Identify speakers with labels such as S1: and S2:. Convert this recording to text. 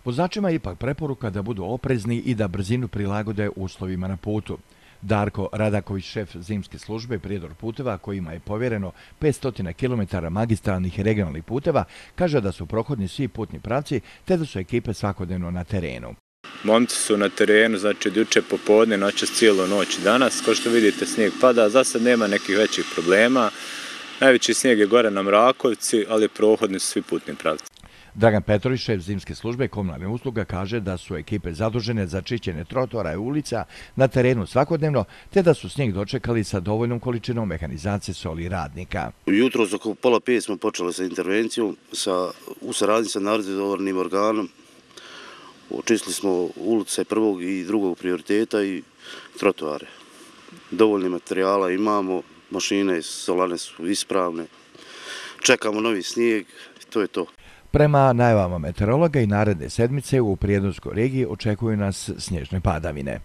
S1: Vozačima je ipak preporuka da budu oprezni i da brzinu prilagode uslovima na putu. Darko Radaković, šef zimske službe Prijedor puteva, kojima je povjereno 500 km magistralnih i regionalnih puteva, kaže da su prohodni svi putni pravci te da su ekipe svakodnevno na terenu.
S2: Momci su na terenu, znači od juče popodne, noćas cijelu noć danas. Kao što vidite, snijeg pada, za sad nema nekih većih problema. Najveći snijeg je gore na Mrakovci, ali prohodni su svi putni pravci.
S1: Dragan Petrović, šef zimske službe komunalne usluga, kaže da su ekipe zadužene za čišćenje trotoara i ulica na terenu svakodnevno, te da su snijeg dočekali sa dovoljnom količinom mehanizacije, soli i radnika.
S3: Jutros oko 4:30 smo počeli sa intervencijom u saradnji sa nadzornim organom. Očistili smo ulice prvog i drugog prioriteta i trotoare. Dovoljno materijala imamo, mašine solane su ispravne. Čekamo novi snijeg, to je to.
S1: Prema najavama meteorologa i naredne sedmice u Prijedorskoj regiji očekuju nas snježne padavine.